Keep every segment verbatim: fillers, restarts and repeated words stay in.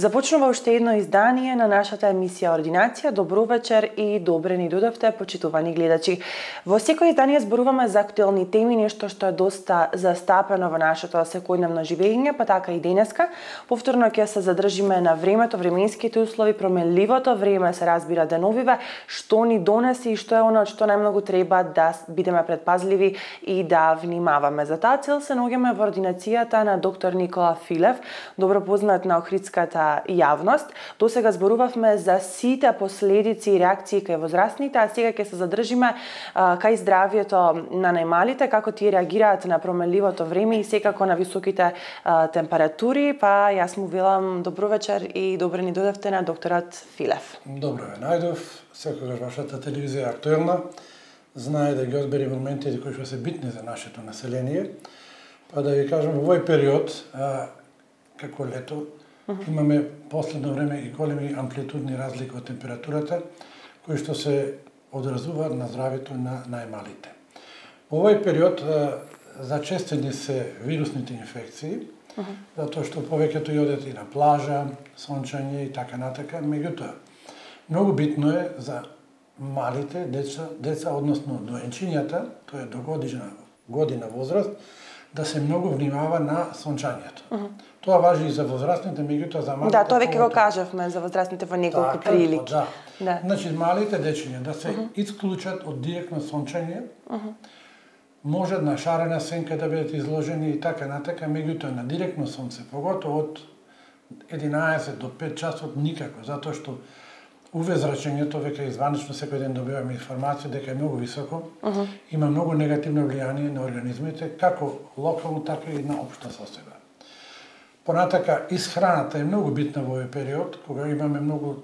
Започнува уште едно издание на нашата емисија Ординација. Добро вечер и добре ни дојдовте, почитувани гледачи. Во секој издание зборуваме за актуелни теми, нешто што е доста застапено во нашето секојдневно живење, па така и денеска. Повторно ќе се задржиме на времето, временските услови, променливото време, се разбира деновиве, што ни донеси и што е оно што најмногу треба да бидеме предпазливи и да внимаваме. За таа цел се наоѓаме во ординацијата на доктор Никола Филев, добро познат на охридската јавност. До сега зборувавме за сите последици и реакции кај возрастните, а сега ќе се задржиме а, кај здравието на најмалите, како тие реагираат на променливото време и секако на високите а, температури. Па јас му велам добро вечер и добре ни дојдовте на докторот Филев. Добро ве најдов, секогаш вашата телевизија е актуелна. Знае да ги одбери моментите кои што се битни за нашето население. Па да ви кажам, во овој период, а, како лето, имаме последно време и големи амплитудни разлики од температурата, кои што се одразуваат на здравието на најмалите. Во овој период зачестени се вирусните инфекции, uh -huh. затоа што повеќето одат и на плажа, сончање и така натака. Меѓутоа, многу битно е за малите деца, деца односно доенчињата, тоа е до година, година возраст, да се многу внимава на сончањето. Uh -huh. Тоа важи и за возрастните, меѓутоа за малите. Да, тоа веќе го кажавме за возрастните во неколку така, прилики. Да. Да. Значи малите дечиња да се uh -huh. исклучат од директно сончање, uh -huh. може на шарена сенка да бидат изложени и така натака, меѓутоа на директно сонце, поготово од единаесет до пет часот никако, затоа што У ве зрачењето веќе изванично секој ден добиваме информација дека е многу високо, uh -huh. има многу негативно влијание на организмите, како локално, така и на општа состојба. Понатака, исхраната е многу битна во овој период, кога имаме многу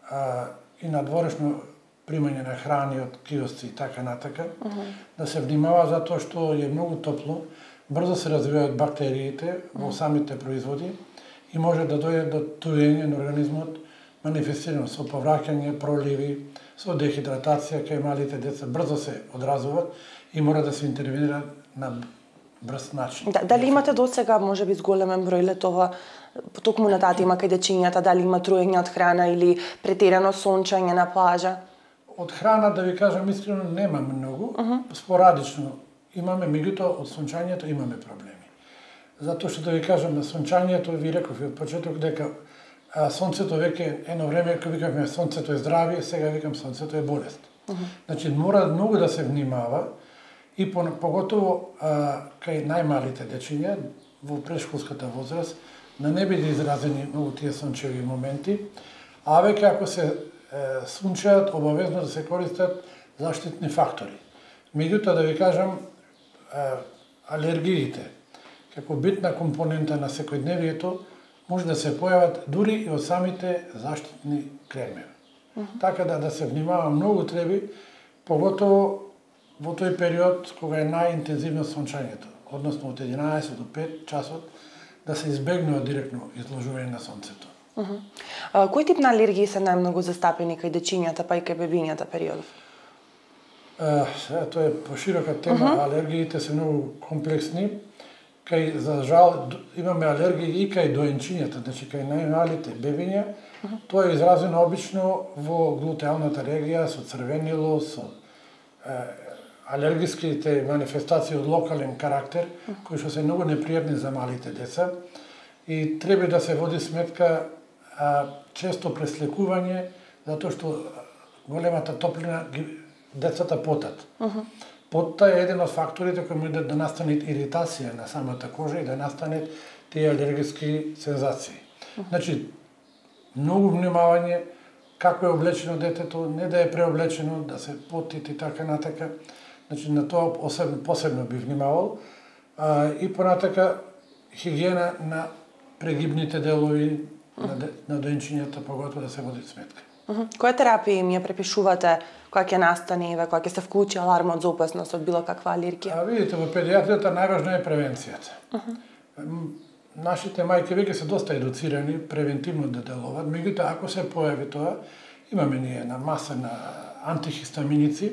а, и надворешно примање на храни од киосци и така натака, uh -huh. да се внимава затоа што е многу топло, брзо се развиваат бактериите во uh -huh. самите производи и може да дојде до туење на организмот, манифестирано со повраќање, проливи, со дехидратација кај малите деца, брзо се одразуваат и мора да се интервенира на брз начин. Да, дали имате до сега, може би, зголемен број летова, токму на таа тема кај дечињата, дали има труење од храна или претерано сончање на плажа? Од храна, да ви кажам искрено, нема многу, uh -huh. спорадично имаме, меѓутоа од сончањето имаме проблеми. Затоа што да ви кажам, на сончањето, ви реков од почеток дека а, сонцето веќе едно време, кога викавме сонцето е здравие, сега викам сонцето е болест. Uh -huh. Значи, мора многу да се внимава и по, поготово а, кај најмалите дечиња во прешколската возраст, да не биде изразени многу тие сончеви моменти, а веќе ако се е, сунчаат, обавезно да се користат заштитни фактори. Меѓутоа, да ви кажам, е, алергиите, како битна компонента на секојдневието, може да се појават дури и од самите заштитни кремеви. Uh -huh. Така да, да се внимава многу треби, поготово во тој период кога е најинтензивно сончањето, односно од единаесет до пет часот, да се избегнува директно изложување на сонцето. Uh -huh. а, кој тип на алергии се најмногу застапени кај дечињата, па и кај бебињата периодов? Uh, сега, тоа е поширока тема, uh -huh. алергиите се многу комплексни. Кај, за жал, имаме алергии и кај доенчињата, значи кај најмалите бебиња. Uh -huh. Тоа е изразено обично во глутеалната регија, со црвенило, со е, алергиските манифестации од локален карактер, uh -huh. кои што се многу непријатни за малите деца. И треба да се води сметка а, често преслекување, затоа што големата топлина ги, децата потат. Uh -huh. Потта е еден од факторите кои може да настане иритација на самата кожа и да настане тие алергиски сензации. Uh -huh. Значи, многу внимавање како е облечено детето, не да е преоблечено, да се потити и така натака. Значи, на тоа посебно, посебно би внимавал. А, и понатака, хигиена на прегибните делови, на, на доенчињата, поготово да се води сметка. Uh -huh. Која терапија им ја препишувате кога ќе настане, кога ќе се вклучи алармот за опасност од било каква алергија? А видите, во педиатријата најважна е превенцијата. Uh -huh. Нашите мајки веќе се доста едуцирани превентивно да делуваат, меѓутоа ако се појави тоа, имаме ние една маса на антихистаминици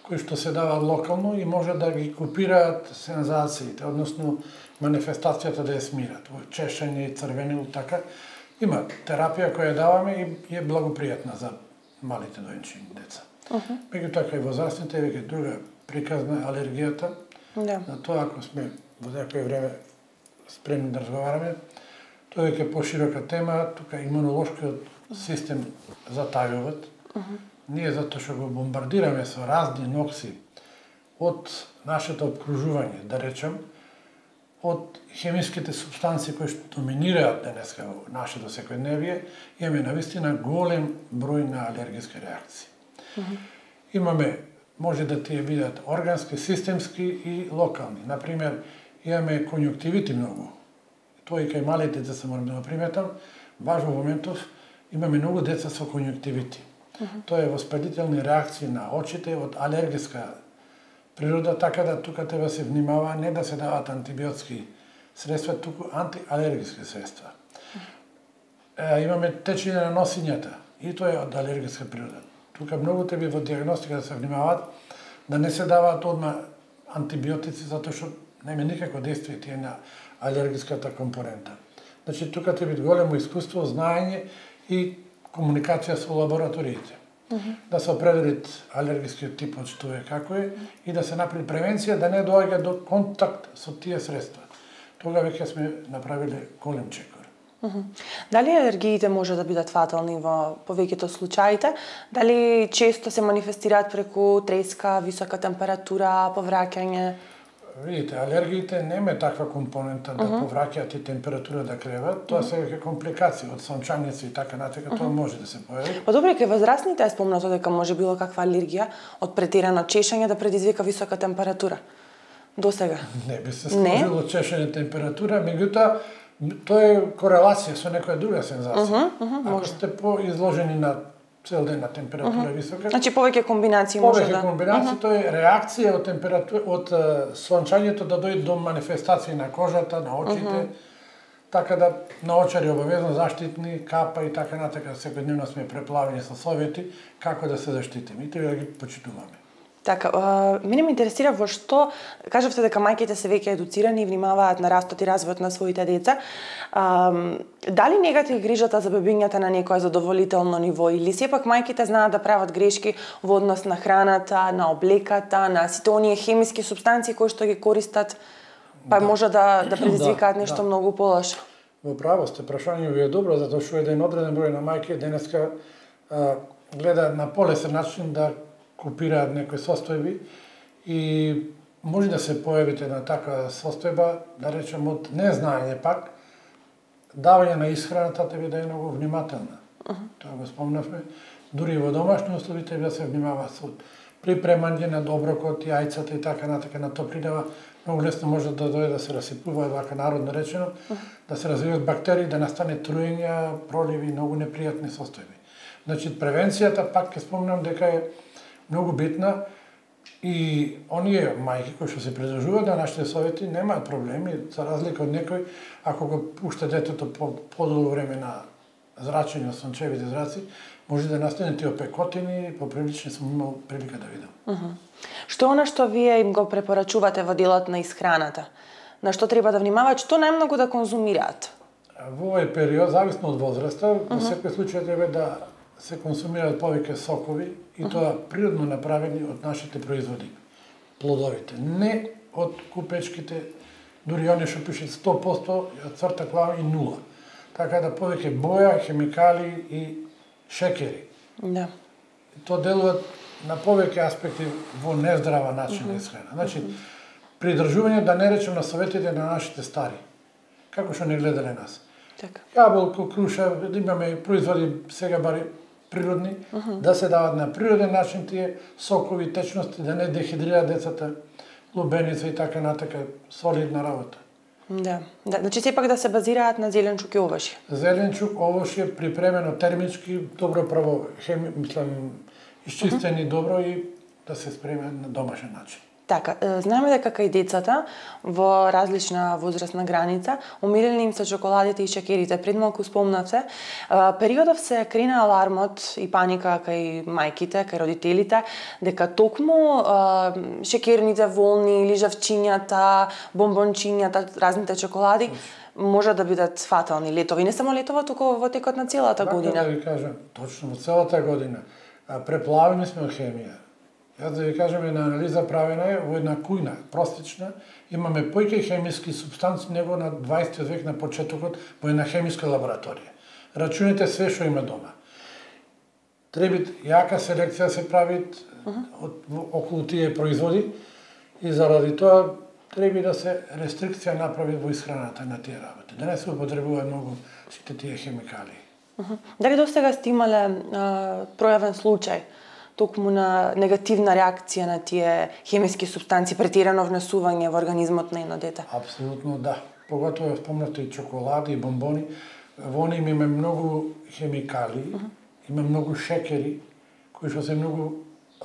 кои што се даваат локално и може да ги копираат сензациите, односно манифестацијата да ја смират, чешање и црвенило, така. Има терапија која даваме и е благопријатна за малите доенчини деца. Uh -huh. Меѓутоа кај возрастните веќе друга приказна алергијата. Да. На тоа ако сме во некој време спремни да разговараме, тоа веќе поширока тема, тука имунолошкиот систем затајуваат. Uh -huh. Ние затоа што го бомбардираме со разни нокси од нашето обкружување, да речем, од хемиските субстанции кои што доминираат денеска во нашето секојдневие, имаме навистина голем број на алергиски реакции. Uh -huh. Имаме, може да тие бидат органски, системски и локални. Например, имаме конјуктивити многу. Тоа и кај малите деца морам да го приметам, баш во моментов имаме многу деца со конјуктивити. Uh -huh. Тоа е воспалителни реакции на очите од алергиска природа, така да тука треба се внимава не да се дават антибиотски средства, туку антиалергиски средства. Е, имаме течење на носињата и тоа е од алергиска природа. Тука многу треба во диагностика да се внимаваат да не се даваат одма антибиотици затоа што нема никакво действие тие на алергиската компонента. Значи тука треба големо искуство, знаење и комуникација со лабораториите. Uh -huh. Да се определит алергискиот тип од што е, како е, и да се направи превенција да не доаѓа до контакт со тие средства. Тога веќе сме направиле голем чекор. Uh -huh. Дали алергиите може да бидат фатални во повеќето случаите? Дали често се манифестираат преку треска, висока температура, повраќање? Видите, алергиите нема таква компонента да uh -huh. повраќаат и температура да креват, тоа uh -huh. се веќе компликации од сончаница и така натака, uh -huh. тоа може да се појави. Па добре, кај возрастните е спомнато дека може било каква алергија од претерано чешање да предизвика висока температура. До сега? Не би се сложило чешање температура, меѓутоа тоа е корелација со некоја друга сензација. Uh -huh, uh -huh, ако сте поизложени на цел ден на температура uh -huh. висока. Значи повеќе комбинации може да. Повеќе комбинации, uh -huh. тоа е реакција од температура од сончањето да дојде до манифестации на кожата, на очите. Uh -huh. Така да на очари обавезно заштитни, капа и така натака, секојдневно сме преплавени со совети како да се заштитиме и треба да ги почитуваме. Така, а, мене ме интересира во што, кажавте дека мајките се веќе едуцирани и внимаваат на растот и развојот на своите деца. А, дали негатив грижата за бебињата на некое задоволително ниво или сепак мајките знаат да прават грешки во однос на храната, на облеката, на сите оние хемиски супстанции кои што ги користат, па да. може да да предизвикаат да, нешто да. многу полошо. Во право сте, прашањето ви е добро затоа што еден одреден број на мајки денеска а, гледаат на полесен начин да копираат некои состојби и може да се појавите на таква состојба, да речем од незнаење пак, давање на исхраната треба да е многу внимателна. Uh -huh. Тоа го спомнавме. Дури во домашни услови треба да се внимава со припремање на оброкот, јајцата и така натака на топлинава. Многу лесно може да дојде да се расипува, вака народно речено, uh -huh. да се развијат бактерии, да настане труења, проливи, многу непријатни состојби. Значи превенцијата пак ќе спомнам дека е многу битна и оние мајки кои што се придржуваат на нашите совети немаат проблеми, за разлика од некој, ако го пушта детето по подолго време на зрачење од сончевите зраци, може да настане тие опекотини, поприлично сум имал прилика да видам. Uh -huh. Што е она што вие им го препорачувате во делот на исхраната? На што треба да внимаваат, што најмногу да конзумираат? Во овој период, зависно од возраста, во uh -huh. секој случај треба да се консумираат повеќе сокови и uh -huh. тоа природно направени од нашите производи, плодовите, не од купечките, дури оние што пишат сто проценти црта клава и нула. Така да повеќе боја, хемикали и шекери. Да. Тоа делуваат на повеќе аспекти во нездрава начин на uh -huh. исхрана. Значи, uh -huh. придржување, да не речем на советите на нашите стари, како што не гледале нас. Така. Јаболко, круша, имаме производи сега бари природни, uh -huh. да се дават на природен начин тие сокови, течности, да не дехидрираат децата, лубеница и така натака, солидна работа. Да, да, значи сепак да се базираат на зеленчук и овошје. Зеленчук, овошје припремено термички, добро право, хеми, мислам, исчистени uh -huh. добро и да се спреме на домашен начин. Така, знаеме дека кај децата во различна возрастна граница омилени им се чоколадите и шекерите. Пред малку спомнавте, периодов се крена алармот и паника кај мајките, кај родителите, дека токму шекерните волни, лижавчињата, бомбончињата, разните чоколади може да бидат фатални летови. Не само летова, туку во текот на целата година. Така да ви кажам, точно во целата година. Преплавени сме од хемија. Јас да ви кажам, една анализа правена е во една кујна, простична, имаме појќе хемиски субстанци него на дваесети век на почетокот во една хемиска лабораторија. Рачунете све што има дома. Треба јака селекција се прави uh -huh. од околу тие производи и заради тоа треба да се рестрикција направи во исхраната на тие работи. Да не се употребува многу сите тие хемикали. Uh -huh. Дали достига сте имале пројавен случај токму на негативна реакција на тие хемиски супстанци, претирано внесување во организмот на едно дете? Апсолутно да. Поготово спомнато и чоколади и бомбони. Во нив има многу хемикали, uh -huh. има многу шекери, кои што се многу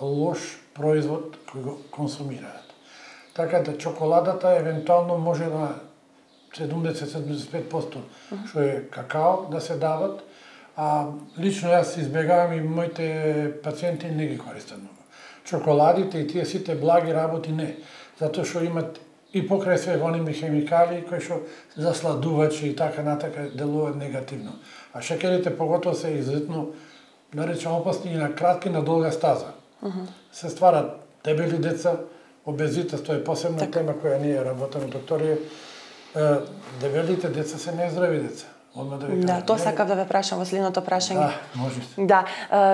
лош производ кој го консумираат. Така да чоколадата евентуално може на седумдесет до седумдесет и пет проценти uh -huh. што е какао да се дават, а лично јас избегавам и моите пациенти не ги користат многу. Чоколадите и тие сите благи работи не, затоа што имат и покрај све воними хемикали кои што засладувачи и така натака делуваат негативно. А шекерите поготово се изуzetно, да речем, опасни и на кратки на долга стаза. Uh -huh. Се стварат дебели деца, обезитет, тоа е посебна так. тема која ние работиме докторија. Дебелите деца се нездрави деца. Одма да ви кажам. Да, тоа сакав да ве прашам во следното прашање. Да, можете. Да,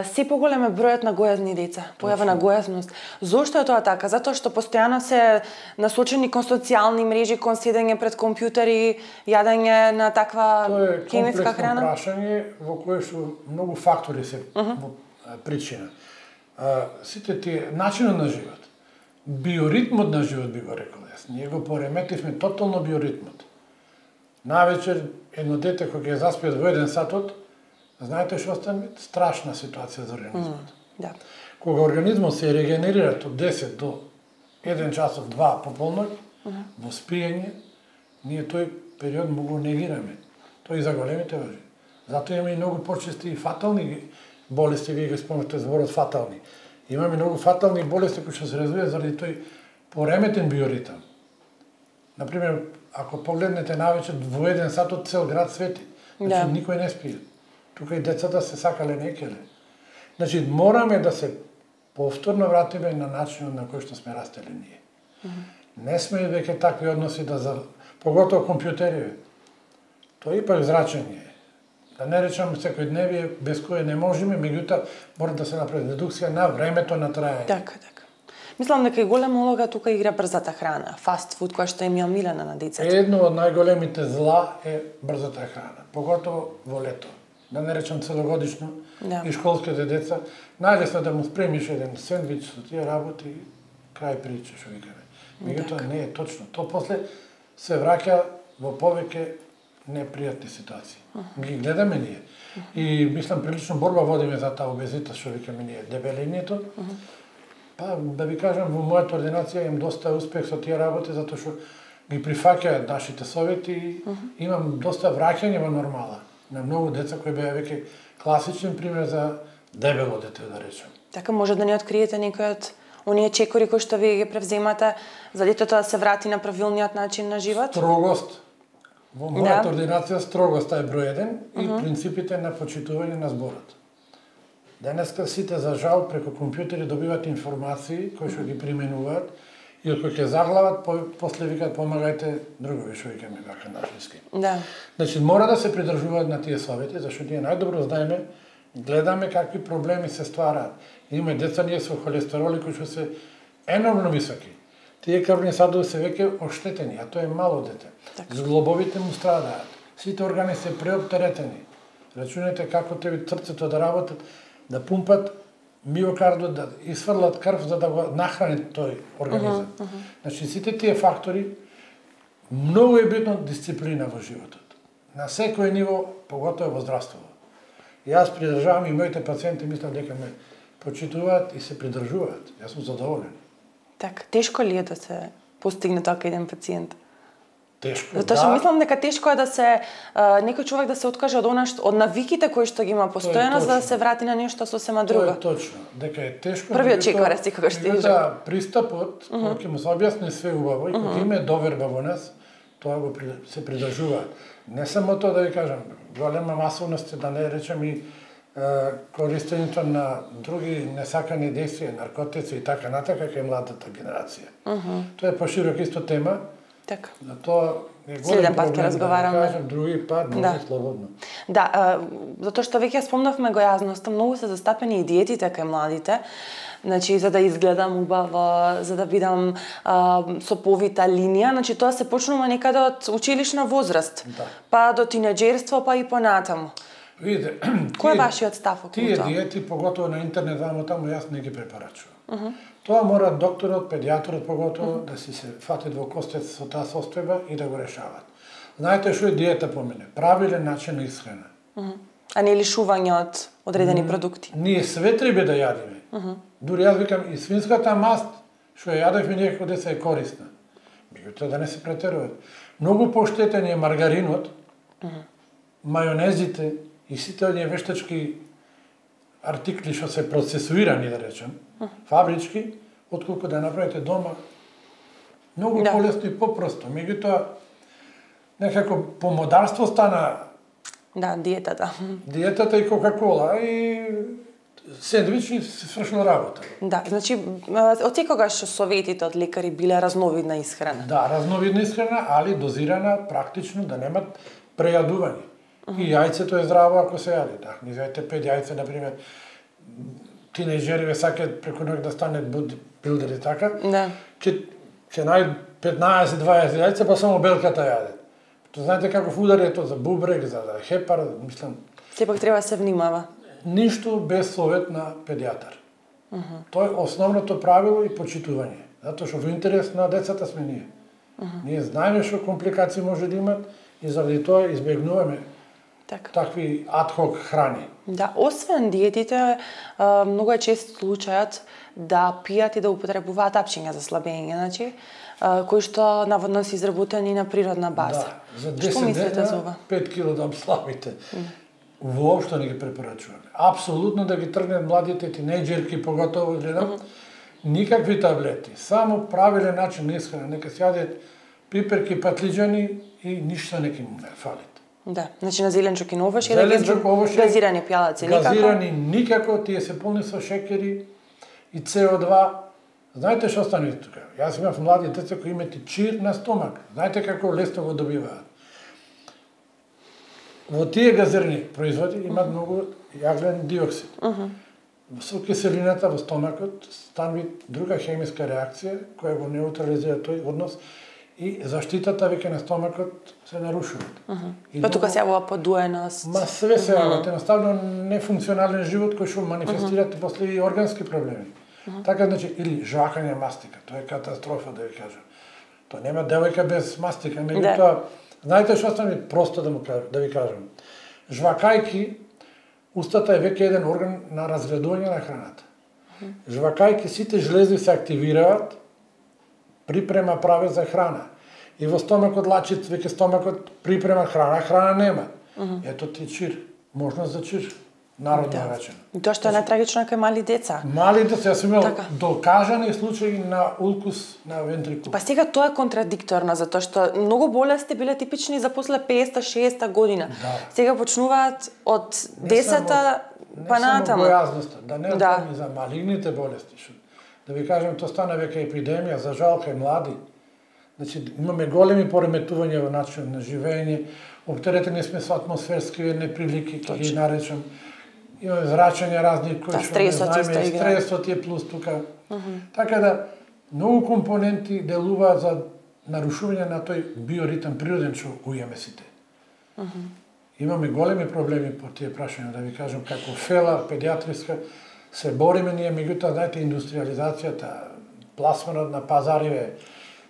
се поголем е бројот на гојазни деца, појава на гојазност. Зошто е тоа така? Затоа што постојано се насочени кон социјални мрежи, кон седење пред компјутери, јадење на таква хемиска храна? Тоа е комплексно прашање во кое што многу фактори се uh -huh. во причина. А, сите тие начинот на живот, биоритмот на живот би го рекол јас. Ние го пореметивме тотално биоритмот. Навечер едно дете кој ќе заспие во еден сатот, знаете што стане? Страшна ситуација за организмот. Mm, да. Кога организмот се регенерира од десет до еден часот, два по полноќ, mm -hmm. во спиење, ние тој период му го негираме. Тој и за големите важи. Затоа има и многу почести и фатални болести, вие ги спомнате зборот фатални. Имаме многу фатални болести кои што се развиваат заради тој пореметен биоритам. Например, ако погледнете навечер во еден сат од цел град свети, значи да. Никој не спие. Тука и децата се сакале некеле. Значи мораме да се повторно вратиме на начинот на кој што сме растели ние. Mm -hmm. Не сме веќе такви односи да за поготово компјутери. Тоа е ипак зрачење. Да не речам секојдневие без кое не можеме, меѓутоа мора да се направи редукција на времето на траење. Така, така. Мислам дека и голема улога тука игра брзата храна, фаст фуд која што е омилена на децата. Едно од најголемите зла е брзата храна, поготово во лето. Да не речам целогодишно, да. И школските деца, најлесно да му спремиш еден сендвич со тие работи, крај прича, што викаме. Меѓутоа не е точно. Тоа после се враќа во повеќе непријатни ситуации. Uh -huh. Ги гледаме ние. Uh -huh. И мислам прилично борба водиме за таа обезитет, што викаме ние, дебелињето. Uh -huh. Па да ви кажам, во мојата ординација имам доста успех со тие работи затоа што ги прифаќаат нашите совети и uh -huh. имам доста враќање во нормала на многу деца кои беа веќе класичен пример за дебело дете, да речем. Така може да ни откриете некој од оние чекори кои што вие ги превземате за детето да се врати на правилниот начин на живот? Строгост. Во мојата да. ординација строгост е број еден и uh -huh. принципите на почитување на зборот. Денеска сите за жал преку компјутери добиваат информации кои што ги применуваат и кои ќе заглават, по, после викаат помагајте другови, што викаме вака на англиски. Да. Значи мора да се придржуваат на тие совети, зашто ние најдобро знаеме, гледаме какви проблеми се ствараат. Има деца ние со холестероли кои што се енормно високи. Тие крвни садови се веќе оштетени, а тоа е мало дете. Так. Зглобовите му страдаат. Сите органи се преоптеретени. Рачунете како треба срцето да работат, да пумпат миокардот, да изфрлат крв за да го нахранат тој организам. Uh -huh, uh -huh. Значи сите тие фактори Многу е битно дисциплина во животот. На секој ниво, поготово во здравството. Јас придржавам и моите пациенти мислам дека ме почитуваат и се придржуваат. Јас сум задоволен. Така, тешко ли е да се постигне така еден пациент? Тешко, Затоа што мислам дека тешко е да се а, некој човек да се откаже од она што од навиките кои што ги има постојано за да се врати на нешто сосема друго. Тоа е точно, дека е тешко. Првиот чекор си кога што да пристапот, кога ќе му се објасни све убаво и кога има доверба во нас, тоа го се придржуваат. Не само тоа да ви кажам, голема масовност да не речем и користењето на други несакани действија, наркотици и така натака кај младата генерација. Uh -huh. Тоа е поширок исто тема. Така. За тоа е голем Следен пат ќе проблем, разговараме. Да кажам, други пат, може да. слободно. Да, а, затоа што веќе спомнавме го јазноста, многу се застапени и диетите кај младите. Значи, за да изгледам убаво, за да бидам а, со повита линија, значи тоа се почнува некаде од училишна возраст, Да. па до тинеџерство, па и понатаму. Видите, кој е вашиот став околу тие тоа? Тие диети, поготово на интернет, вамо таму, јас не ги препорачувам. Uh -huh. Тоа мора докторот, педијатрот поготово, uh -huh. да си се фатат во костец со таа состојба и да го решават. Знаете што е диета по мене? Правилен начин на исхрана. Uh -huh. А не лишување од одредени mm, продукти? Ние све треба да јадиме. Uh -huh. Дури јас викам, и свинската маст, што ја јадевме некако деца е корисна. Меѓутоа да не се претеруваат. Многу поштетен е маргаринот, uh -huh. мајонезите и сите оние вештачки артикли што се процесуирани, да речем, uh -huh. фабрички, отколку да направите дома. Многу да. полесно и попросто. Меѓутоа, некако помодарство стана да, диетата. Диетата и Кока-кола и сендвичи се свршила работа. Да, значи од секогаш советите од лекари биле разновидна исхрана. Да, разновидна исхрана, али дозирана практично да немат прејадување. Uh -huh. И јајцето е здраво ако се јаде. Да, ни зајте пет јајца, например, тинејџери ве сакаат преку ноќ да станат бодибилдери така. Да. Ќе ќе најд петнаесет дваесет јајца, па само белката јаде. То знаете каков удар е тоа за бубрек, за хепар, мислам. Сепак треба да се внимава. Ништо без совет на педијатар. Uh -huh. Тоа е основното правило и почитување. Затоа што во интерес на децата сме ние. Uh -huh. Ние знаеме што компликации може да имат и заради тоа избегнуваме так. такви адхок храни. Да, освен диетите, многу е чест случајот да пијат и да употребуваат апчиња за слабење, значи, кои што наводно се изработени на природна база. Да, за десет дена, пет килограми слабите. Mm. Воопшто не ги препорачуваме. Апсолутно да ги тргнат младите тинејџерки, поготово гледам, mm -hmm. никакви таблети, само правилен начин на исхрана, нека се јадат пиперки, патлиџани и ништо не ќе му не фалит. Да, значи на зеленчук и на овошје, да газирани пјалаци никако. Газирани никако, тие се полни со шекери и С О два. Знаете што стане тука? Јас имав млади деца кои имаат и чир на стомак. Знаете како лесно го добиваат? Во тие газирани производи имаат uh -huh. многу јаглен диоксид. Uh -huh. Со киселината во стомакот станува друга хемиска реакција која го неутрализира тој однос и заштитата веќе на стомакот се нарушува. Uh -huh. Па тука се јавува подуеност. Ма све се јавува, uh -huh. едноставно нефункционален живот кој што манифестираат uh -huh. после и органски проблеми. Uh -huh. Така, значи, или жвакање мастика, тоа е катастрофа, да ви кажам. Тоа нема девојка без мастика, меѓутоа, да. Знаете што стане просто да му кажам, да ви кажам. Жвакајки, устата е веќе еден орган на разградување на храната. Uh -huh. Жвакајки сите жлези се активираат, припрема праве за храна. И во стомакот лачит, веќе стомакот припрема храна, храна нема. Uh -huh. Ето ти чир, можност за чир. Народно да. речено. И тоа што е најтрагично кај мали деца. Мали деца, јас имал така. докажани случаи на улкус на вентрикул. Па сега тоа е контрадикторно, затоа што многу болести биле типични за после петдесета шеесета година. Да. Сега почнуваат од десета па натаму. Не само бојазноста, да не да. и за малигните болести. Шо. Да ви кажем, тоа стана веќе епидемија, за жал кај млади. Значи, имаме големи пореметувања во начинот на живење, оптеретени сме со атмосферски неприлики, ќе ги наречам. Имаме зрачања разни кои што не знаеме, стресот е плюс тука. Uh -huh. Така да, многу компоненти делуваат за нарушување на тој биоритам природен што го имаме сите. Uh -huh. Имаме големи проблеми по тие прашања, да ви кажам, како фела, педијатриска, се бориме ние, меѓутоа, знаете, индустриализацијата, пласманот на пазариве,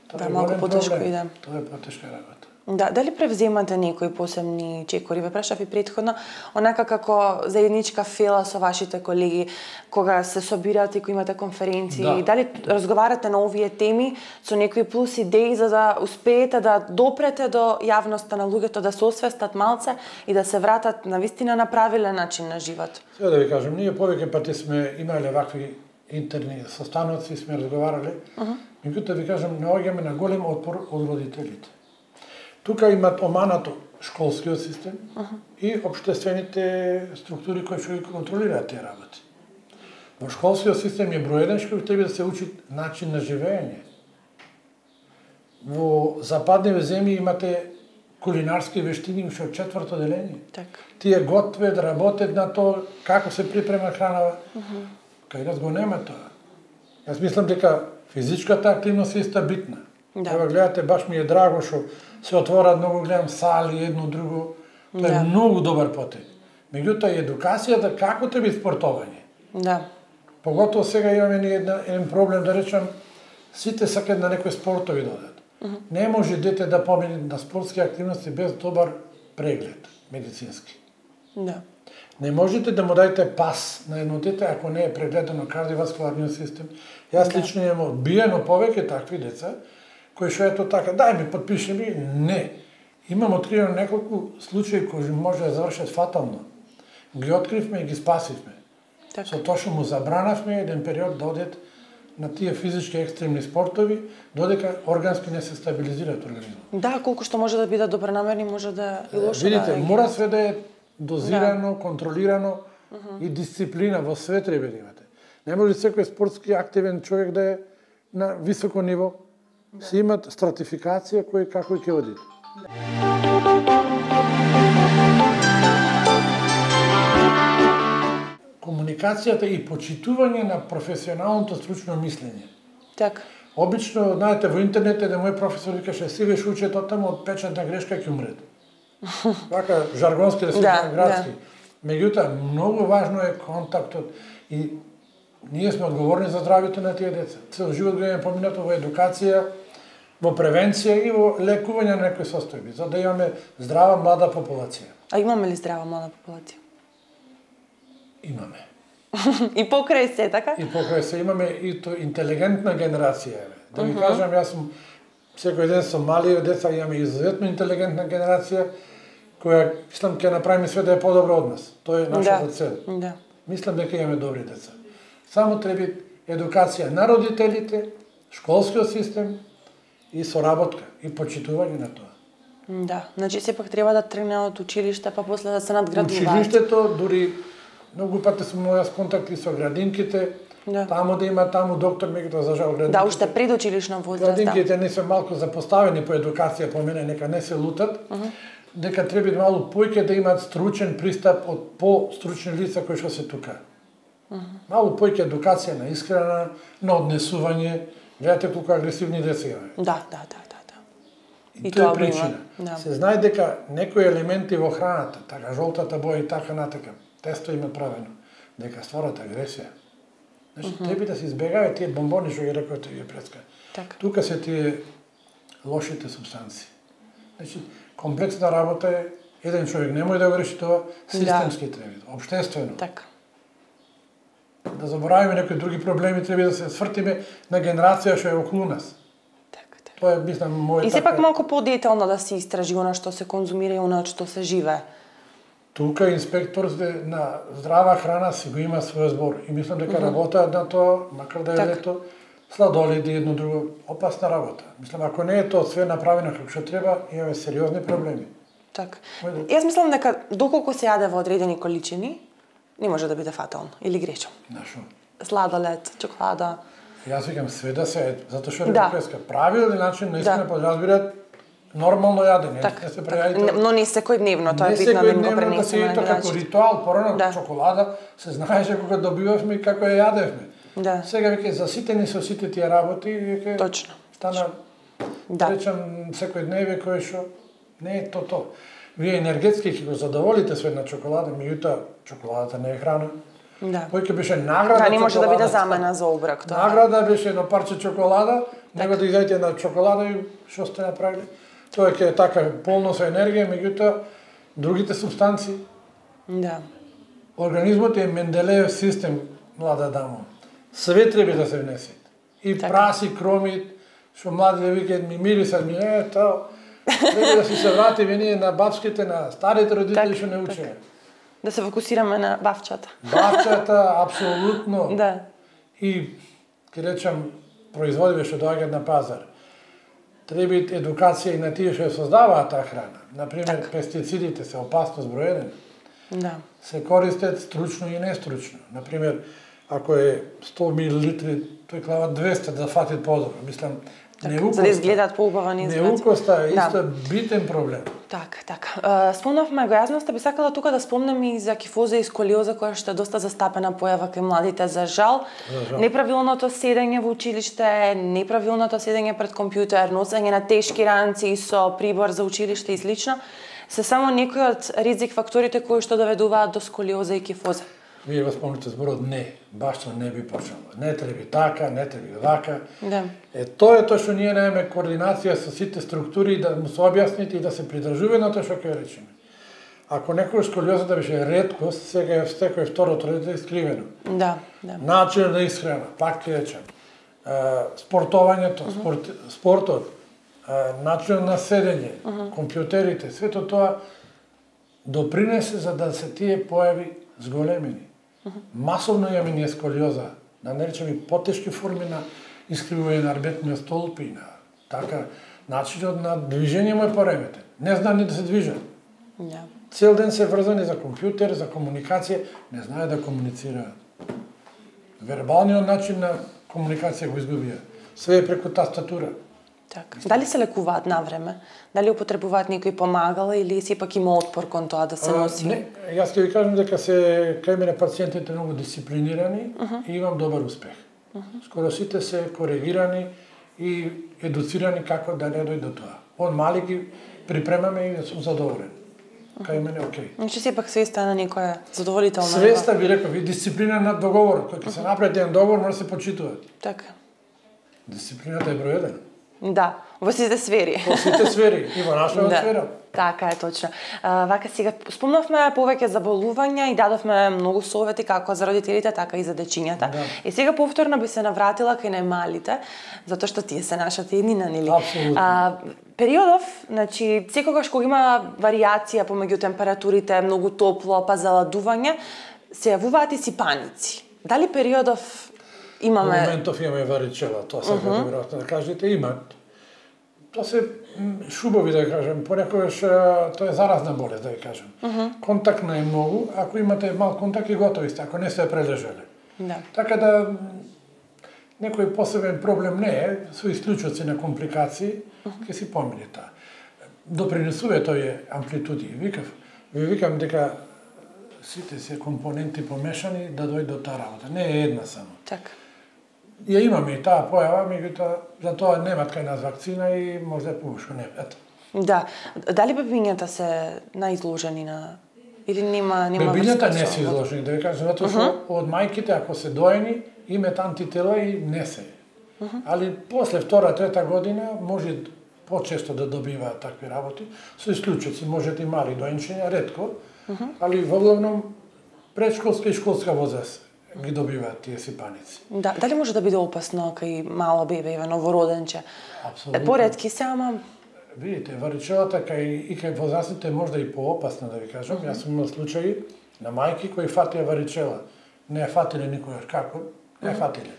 Тоа Да, е малку голем потешко проблем. иде. Тоа е потешка работа. Да, дали превземате некои посебни чекори? Ве прашав и претходно, онака како заедничка фела со вашите колеги, кога се собирате, кога имате конференции, Да. дали разговарате на овие теми со некои плюс идеи за да успеете да допрете до јавноста на луѓето, да се освестат малце и да се вратат на вистина на правилен начин на живот? Сега да ви кажам, ние повеќе пати сме имале вакви интерни состаноци, сме разговарале, uh-huh. меѓутоа ви кажам, наоѓаме на голем отпор од родителите. Тука имат оманато школскиот систем uh-huh. и општествените структури кои што ги контролираат тие работи. Во школскиот систем е број еден што треба да се учи начин на живење. Во западните земји имате кулинарски вештини уште од четврто деление. Так. Тие готват, работат на тоа како се припрема хранава. Uh-huh. Кај нас го нема тоа. Јас мислам дека физичката активност е иста битна. Да. Ева гледате, баш ми е драго што се отворат многу гледам сали, едно друго. Тоа да. е многу добар потек. Меѓутоа и едукацијата како треба спортовање. Да. Поготово сега имаме ни една, еден проблем, да речам, сите сакаат на некои спортови да одат. Uh-huh. Не може дете да помине на спортски активности без добар преглед медицински. Да. Не можете да му дадете пас на едно дете ако не е прегледано кардиоваскуларниот систем. Јас да. лично имам одбиено повеќе такви деца кои што ето така, дај ми, подпиши ми, не. Имам откривено неколку случаи кои може да завршат фатално. Ги откривме и ги спасивме. Так. Со тоа што му забранавме еден период да одат на тие физички екстремни спортови, додека органски не се стабилизираат организмот. Да, колку што може да биде добронамерни, може да и лошо. Видите, да мора све да е дозирано, да. контролирано uh-huh. и дисциплина во све треба да имате. Не може секој спортски активен човек да е на високо ниво. Да. Се имат стратификација кој како и ќе оди. Комуникацијата и почитување на професионалното стручно мислење. Так. Обично, знаете, во интернет е да мој професор викаше си веш учат од таму од печатна грешка ќе умрет. Вака жаргонски да се да, градски. Да. Меѓутоа, многу важно е контактот и ние сме одговорни за здравјето на тие деца. Цел живот го имаме поминато во едукација, во превенција и во лекување на некои состојби, за да имаме здрава млада популација. А имаме ли здрава млада популација? Имаме. И покрај се, така? И покрај се имаме и то интелигентна генерација. Да ви uh-huh. кажам, јас сум секој ден со мали деца, имаме изуzetно интелигентна генерација која мислам ќе направи све да е подобро од нас. Тоа е нашата да. цел. Да. Мислам дека имаме добри деца. Само треба едукација на родителите, школскиот систем и соработка и почитување на тоа. Да, значи сепак треба да тргне од училиште, па после да се надградуваат. Училиштето, дури многу пати сум имал јас контакти со градинките, да. Таму да има таму доктор, меѓутоа за жал градинките. Да, уште предучилишна возраст. Градинките да. не се малку запоставени по едукација по мене, нека не се лутат. Uh-huh. Дека треба малку поќе да имаат стручен пристап од по-стручни лица кои што се тука. Uh-huh. Малку поќе едукација на исхрана, на однесување. Гледате колку агресивни деца имаме. Да, да, да, да, да. И, и тоа е причина. Да. Се знае дека некои елементи во храната, така жолтата боја и така натака, тесто има правено, дека стварат агресија. Значи, uh-huh. треба да се избегаваат тие бомбони што ги рекоте вие преска. Так. Тука се тие лошите субстанции. Значи, комплексна работа е, еден човек не може да го реши тоа, системски да. треба, општествено. Така. Да заборавиме некои други проблеми, треба да се свртиме на генерација што е околу нас. Така, така. Тоа е, мислам, моје И сепак така... малку подетално да се истражи она што се конзумира и она што се живее. Тука инспекторите на здрава храна си го има свој збор и мислам дека uh-huh. работаат на тоа, макар да е так. лето, сладоледи едно друго, опасна работа. Мислам, ако не е тоа све направено како што треба, имаме сериозни проблеми. Така. Јас мислам дека доколку се јаде во одредени количини, не може да биде фатално или грешам. Нашо? Сладолед, чоколада. Јас викам све да се ед, затоа што да. Репреска правилен начин наистина да. подразбираат нормално јадење, так, не се прејадите. Но не секојдневно, тоа е битно да им го пренесеме на граѓаните. Како ритуал, порано да. чоколада се знаеше кога добивавме и како ја јадевме. Да. Сега веќе заситени со сите тие работи и веќе Точно. стана да. речам секојдневие кое што не е то то. Вие енергетски ќе го задоволите со една чоколада, меѓутоа чоколадата не е храна. Да. Поиќе беше награда. Да, не може да биде замена за оброк тоа. Награда беше едно парче чоколада, него да изајте на чоколада и што сте направиле. Тоа ќе е така полно со енергија, меѓутоа другите супстанции. Да. Организмот е Менделеев систем, млада дамо. Све треба да се внесе. И така. Праси, кромит, што младите викаат ми мирисат, ми е тоа. Треба да си се вратиме ние на бабските, на старите родители што не учеа. Да се фокусираме на бавчата. Бавчата, апсолутно. Да. И, ке речам, производиве што доаѓаат на пазар. Треба едукација и на тие што ја создаваат таа храна. Например, так. Пестицидите се опасност број еден. Да. Се користат стручно и нестручно. Например, ако е сто милилитри, тој клава двесте да фати подобро. Мислам, так, неукоста, за да изгледаат поубава изглед. Неукоста е исто да. битен проблем. Така, така. Спомнавме го јазноста, би сакала тука да спомнем и за кифоза и сколиоза, која што е доста застапена појава кај младите, за жал. За жал. Неправилното седење во училиште, неправилното седење пред компјутер, носење на тешки ранци со прибор за училиште и слично, се само некои од ризик факторите кои што доведуваат до сколиоза и кифоза. Вие го спомнете зборот не, баш тоа не би почнало. Не треба така, не треба вака. Да. Е тоа е тоа што ние немаме координација со сите структури да му се објасните и да се придржува на тоа што ќе речеме. Ако некој сколиозата беше реткост, сега е секој второто дете искривено. Да, да. Начин на исхрана, пак ќе речем. Спортувањето, uh -huh. спорт, спортот, начин на седење, uh -huh. компјутерите, сето тоа допринесе за да се тие појави зголемени. Uh -huh. Масовно имаме ние сколиоза, да не речем и потешки форми на искривување на арбетниот столб и на така начинот на движење му е пореметен. Не знае ни да се движат. Yeah. Цел ден се врзани за компјутер, за комуникација, не знае да комуницираат. Вербалниот начин на комуникација го изгубија. Све е преку тастатура. Така. Дали се лекуваат на време? Дали употребуваат некои помагала или сепак има отпор кон тоа да се носи? А, не, јас ќе ви кажам дека се кај мене пациентите многу дисциплинирани uh -huh. и имам добар успех. Uh -huh. Скоро сите се коригирани и едуцирани како да не дојде до тоа. Од мали ги припремаме и сум задоволен. Кај мене окей. Значи сепак свеста на некоја задоволителна. Свеста ви реков, ви дисциплина на договорот, кој ќе се направи еден договор може да се почитува. Така. Дисциплината е број еден. Да, во сите сфери. Во сите сфери, и во нашата да. сфера. Така е точно. А, вака сега спомнавме повеќе за болувања и дадовме многу совети како за родителите, така и за дечињата. Да. И сега повторно би се навратила кај најмалите, затоа што тие се нашата еднина, нели? Апсолутно. А, периодов, значи, секогаш кога има варијација помеѓу температурите, многу топло, па заладување, се јавуваат и сипаници. Дали периодов имаме... Во моментов имаме варичела, тоа сакате uh -huh. веројатно да кажете, имат. Тоа се шубови, да кажем, понекогаш тоа е заразна болест, да кажем. Uh -huh. Контактна е многу, ако имате мал контакт и готови сте, ако не се прележеле. Да. Така да некој посебен проблем не е, со исклучоци на компликации, uh -huh. ќе си помине таа. Допринесува тој амплитуди. Викав, ви викам дека сите се компоненти помешани да дојде до таа работа. Не е една само. Така. Ја имаме и таа појава, меѓутоа за тоа немат кај нас вакцина и може да помошко немат. Да. Дали бебињата се наизложени на или нема нема бебињата не се изложени, да ви кажам, затоа што uh -huh. од мајките ако се доени имаат антитела и не се. Uh -huh. Али после втора, трета година може почесто да добиваат такви работи, со исклучоци, можете и мали доенчиња, ретко, uh -huh. али во главном предшколска и школска возраст ги добиваат тие сипаници. Да, дали може да биде опасно кај мало бебе, еве новороденче? Апсолутно. Е поретки се, ама видите, варичелата кај и кај возрастните можда и поопасна, да ви кажам. Uh -huh. Јас сум имал случаи на мајки кои фатија варичела. Не ја фатиле никогаш, како? Не ја фатиле.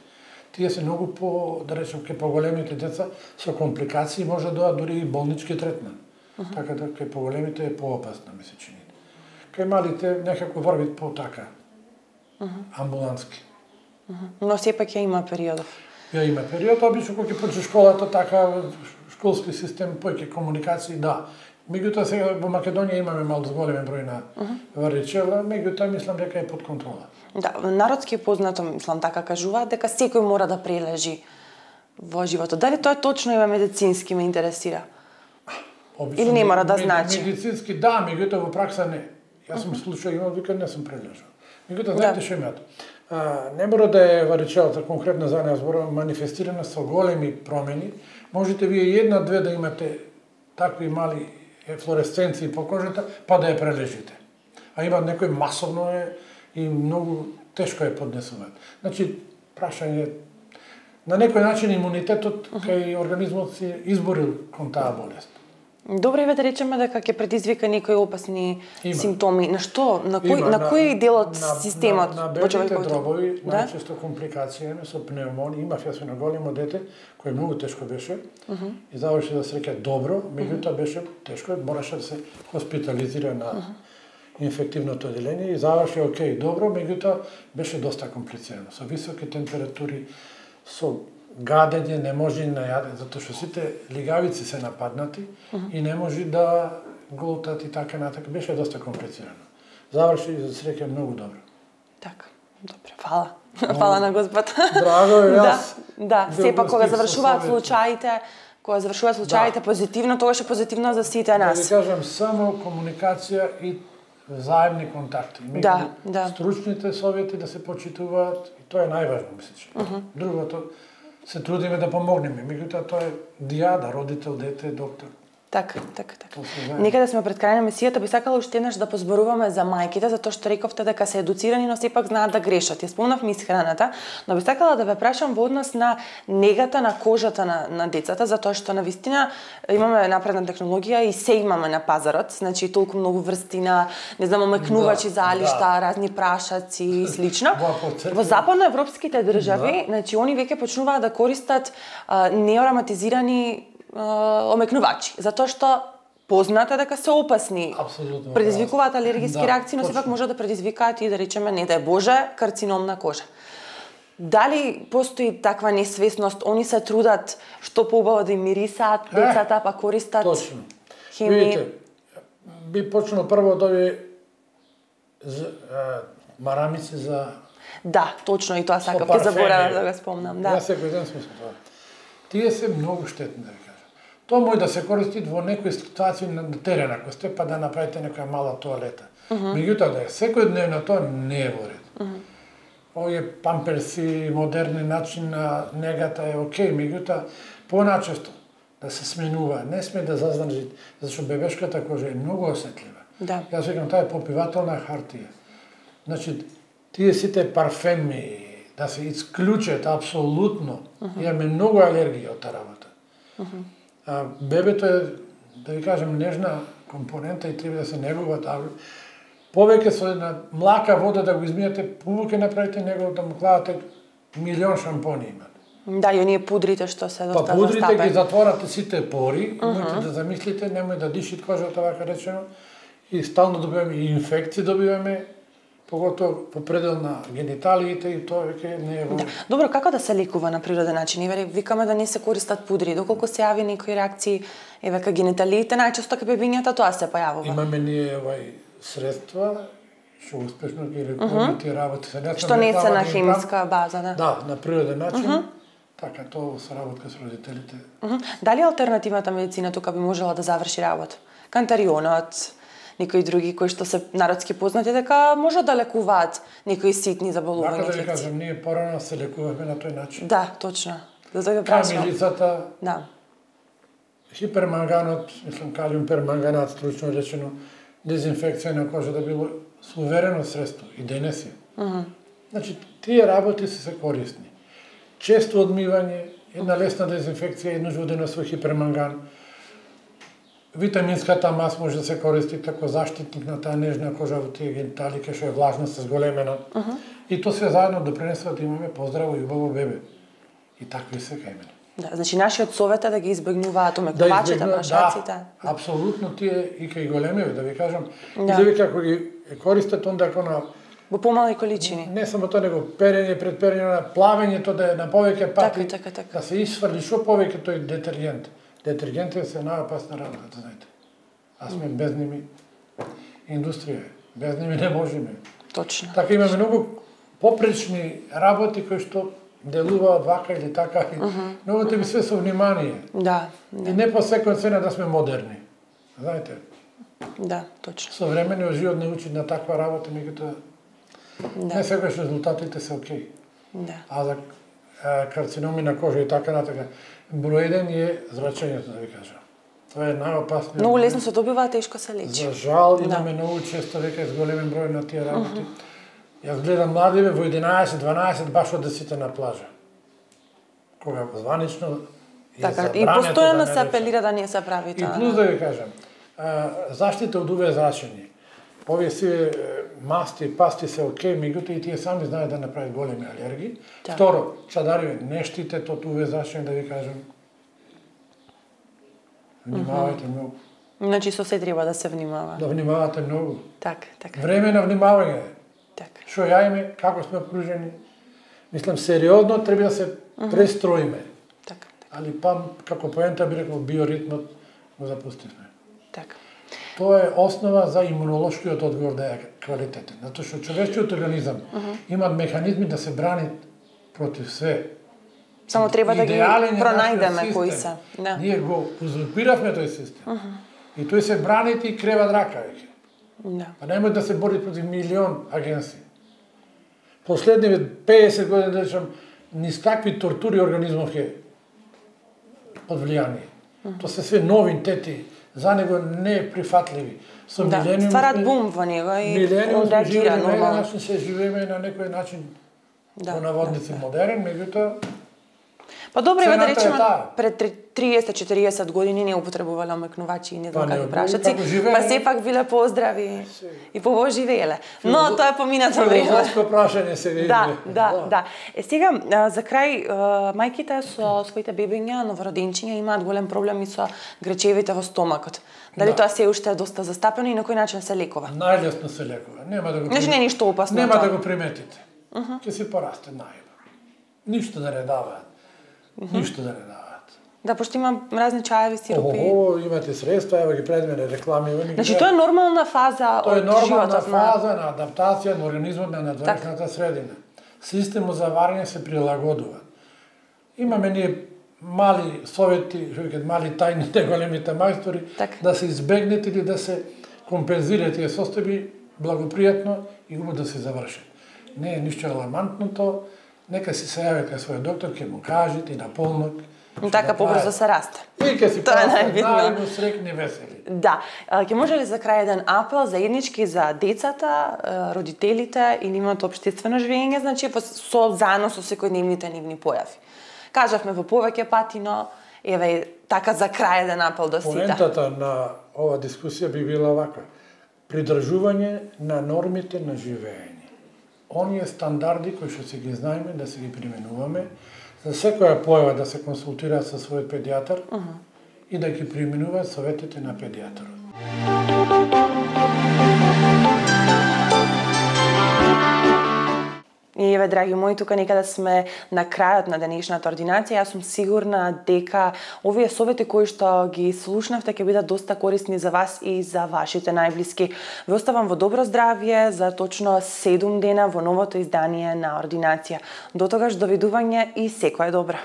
Тие се многу по, да речем, кај поголемите деца со компликации може да доа дури и болнички третман. Uh -huh. Така да кај поголемите е поопасно, ми се чини. Кај малите некако врви по така. Uh -huh. Амбулански. Uh -huh. Но сепак ја има периодов. Ја има период, обично кога ќе почне школата, така школски систем, поќе комуникации, да. Меѓутоа сега во Македонија имаме мал зголемен број на uh -huh. варичела, меѓутоа мислам дека е под контрола. Да, народски е познато, мислам така кажуваат, дека секој мора да прележи во животот. Дали тоа е точно има медицински ме интересира? Обично, или не мора да значи? Медицински да, меѓутоа во пракса не. Јас сум uh -huh. случај имал, вика не сум прележал. Меѓутоа, знаете што имаат? Не мора да е варичелата конкретно за неја зборува манифестирана со големи промени. Можете вие една-две да имате такви мали флуоресценции по кожата, па да ја прележите. А има некој масовно е и многу тешко е поднесуваат. Значи, прашање на некој начин имунитетот кај организмот си изборил кон таа болест. Добро е да речеме дека ќе предизвика некои опасни Има. симптоми. На што? На кој Има, на кој дел од на, системот? На, на во бебите човековото? дробови, Да? најчесто компликација со пневмонија. Имав јас на големо дете, кој многу тешко беше, uh -huh. и заврши да среќа добро, меѓутоа беше тешко, мораше да се хоспитализира на uh -huh. инфективното оделение и заврши окей, добро, меѓутоа беше доста комплицирано. Со високи температури, со гадење, не може на јаде, затоа што сите лигавици се нападнати uh -huh. и не може да глутат и така натака. Беше доста комплицирано. Заврши за среќа многу добро. Така, добро, фала. Фала на Господ. Драго е, јас. Да, да, сепак кога завршуваат случаите, кога завршуваат случаите да. позитивно, тогаш е позитивно за сите нас. Да ви кажам, само комуникација и заедни контакти. Меѓу да, да. стручните совети да се почитуваат, и тоа е најважно, мислиш. Uh -huh. Другото, се трудиме да помогнеме, меѓутоа тоа е дијада, родител, дете, доктор. Така, така, така. Некаде сме пред крај на емисијата, би сакала уште еднаш да позборуваме за мајките, затоа што рековте дека се едуцирани, но сепак знаат да грешат. Ја спомнавме исхраната, но би сакала да ве прашам во однос на негата на кожата на, на децата, затоа што навистина имаме напредна технологија и се имаме на пазарот, значи толку многу врсти на, не знам, омекнувачи да, залишта, да. разни прашаци и слично. Во западноевропските држави, да. значи они веќе почнуваат да користат а, неароматизирани омекнувачи, затоа што познато дека се опасни. Апсолутно. Предизвикуваат алергиски да, реакции, но сепак може да предизвикаат и да речеме не дај Боже карцином на кожа. Дали постои таква несвесност, они се трудат што поубаво да им мирисаат децата, е, па користат точно. химии? Видите, би почнал прво од овие марамици за... Да, точно, и тоа сакав, ќе заборавам да го спомнам. Да. Јас секој ден сме со тоа. Тие се многу штетни, да ви кажам. Тоа може да се користи во некои ситуации на терен, ако сте, па да направите некоја мала тоалета. Uh -huh. Меѓутоа, да е секојдневно тоа не е во ред. Uh -huh. Овие памперси, модерни начин на негата е окей, меѓутоа, поначесто да се сменува, не сме да заздржи, зашто бебешката кожа е многу осетлива. Да. Јас викам, таа е попивателна хартија. Значи, тие сите парфеми, да се исклучат апсолутно. Uh -huh. Имаме многу алергија од таа работа. Uh -huh. А, бебето е, да ви кажем, нежна компонента и треба да се негува таа. Повеќе со една млака вода да го измијате, повеќе направите него да му кладате милион шампони имат. Да, и оние пудрите што се доста застапени. Па пудрите застапени. ги затворате сите пори, uh -huh. можете да замислите, немој да дишите кожата, вака речено, и стално добиваме и инфекции добиваме, поготово по предел на гениталиите и тоа веќе не е во... Да. Добро, како да се лекува на природен начин? Еве, викаме да не се користат пудри, доколку се јави некои реакции, еве, кај гениталиите, најчесто кај бебињата тоа се појавува. Имаме ние овај средства, што успешно ги лекуваме тие работи. Што не се на хемиска база, да? Да, на природен начин. Uh -huh. Така, тоа со работка со родителите. Uh -huh. Дали алтернативната медицина тука би можела да заврши работа? Кантарионот, некои други кои што се народски познати дека можат да лекуваат некои ситни заболувања. Така да ви кажам, ние порано се лекувавме на тој начин. Да, точно. Да го прашам. Камилицата, да. Хиперманганот, мислам калиум перманганат, стручно речено, дезинфекција на кожа да било суверено средство и денес е. Uh -huh. Значи, тие работи се се корисни. Често одмивање, една лесна дезинфекција, еднаш во денот со хиперманган. Витаминската мас може да се користи како заштитник на таа нежна кожа во тие гениталии, што е влажна, се зголемена. Uh -huh. И тоа све заедно допринесува да имаме поздраво и убаво бебе. И такви се кај мене. Да, значи нашиот совет е да ги избегнуваат омекнувачите, да прашаците. Да, апсолутно тие и кај големиве, да ви кажам, да. Или како ги користат онда како на во помали количини. Не само тоа, него перење пред перење на плавењето да е на повеќе пати, така, така, така. да се исфрли што повеќе тој детергент. Детергентите се најопасна работа, да знаете. А сме без ними индустрија, без ними не можеме. Точно. Така имаме многу попречни работи кои што делуваат вака или така. Uh -huh. Многу те би све со внимание. Да, да. И не по секој цена да сме модерни. Знаете? Да, точно. Современиот живот не учи на таква работа, меѓутоа Да. Не секогаш резултатите се окей. Да. А за карциноми на кожа и така натака, број еден е зрачењето, да ви кажам. Тоа е најопасно. Многу лесно се добива, тешко се лечи. За жал имаме да. Многу често века зголемен број на тие работи. Uh -huh. Јас гледам младиве во единаесет дванаесет баш од десете на плажа. Кога званично е така, и постојано да се апелира да не се прави тоа. И плюс да ви кажам, заштита од уве зрачење. Овие си масти, пасти се окей, меѓутоа и тие сами знаат да направат големи алергии. Да. Второ, чадариве, не штитете од уве зрачење, да ви кажам. Внимавајте mm-hmm. многу. Значи со се треба да се внимава. Да внимавате многу. Так, така. Време на внимавање. Така. Што јаиме, како сме окружени. Мислам, сериозно треба да се mm-hmm. престроиме. Така, така. Али па, како поента би рекол, биоритмот го запустивме. Така. Тоа е основа за имунолошкиот одговор да е квалитетен. Затоа што човечкиот организам uh -huh. има механизми да се брани против све. Само треба да ги пронајдеме кои се. Да. Ние го узурпиравме тој систем. Uh -huh. И тој се брани и крева драка веќе. Да. Па немој да се бори против милион агенции. Последниве педесет години да речам, низ какви тортури организмов е под влијание. Uh -huh. Тоа се све нови тети, за него неприфатливи. Со да, милениум стварат бум во него и он реагира нормално. Начин се живееме на некој начин да, во наводници да, модерен, меѓутоа па добро е да речеме пред триесет четириесет години не употребувале омекнувачи и не знам какви прашаци, па сепак биле поздрави и побо живееле. Но тоа е поминато време. Филозофско прашање се види. Да, да, да. Е сега за крај мајките со своите бебиња, новороденчиња имаат голем проблеми со гречевите во стомакот. Дали тоа се уште е доста застапено и на кој начин се лекува? Најлесно се лекува. Нема да го Значи не е ништо опасно. Нема да го приметите. Ќе се порасте најбо. Ништо да не даваат. Ништо да не даваат. Да, пошто има разни чаеви, сиропи. Ого, имате средства, ево ги пред мене реклами. Значи тоа е нормална фаза од животот. Тоа е нормална фаза на адаптација на организмот на надворешната средина. Системот за варење се прилагодува. Имаме ние мали совети, што викат мали тајните, големите мајстори, да се избегнат или да се компензираат тие состојби благопријатно и убаво да се завршат. Не е ништо алармантното. Нека си се јавите својот доктор, ќе му кажете и на полнок. Така побрзо се расте. И ќе си пасат најно срекни весели. Да. Ќе може ли за крај еден апел заеднички за децата, родителите или имаат општествено живење, значи со заедно со секојдневните нивни појави? Кажавме во повеќе пати, но еве така за крај еден апел до сите. Поентата на ова дискусија би била ваква. Придржување на нормите на живење. Оние стандарди кои што се ги знаеме, да се ги применуваме, за секоја појава да се консултираат со својот педијатар uh -huh. и да ги применуваат советите на педијатарот. И еве, драги мои, тука некаде сме на крајот на денешната ординација. Јас сум сигурна дека овие совети кои што ги слушнавте ќе бидат доста корисни за вас и за вашите најблиски. Ве оставам во добро здравје за точно седум дена во новото издание на Ординација. До тогаш, довидување и секое добро.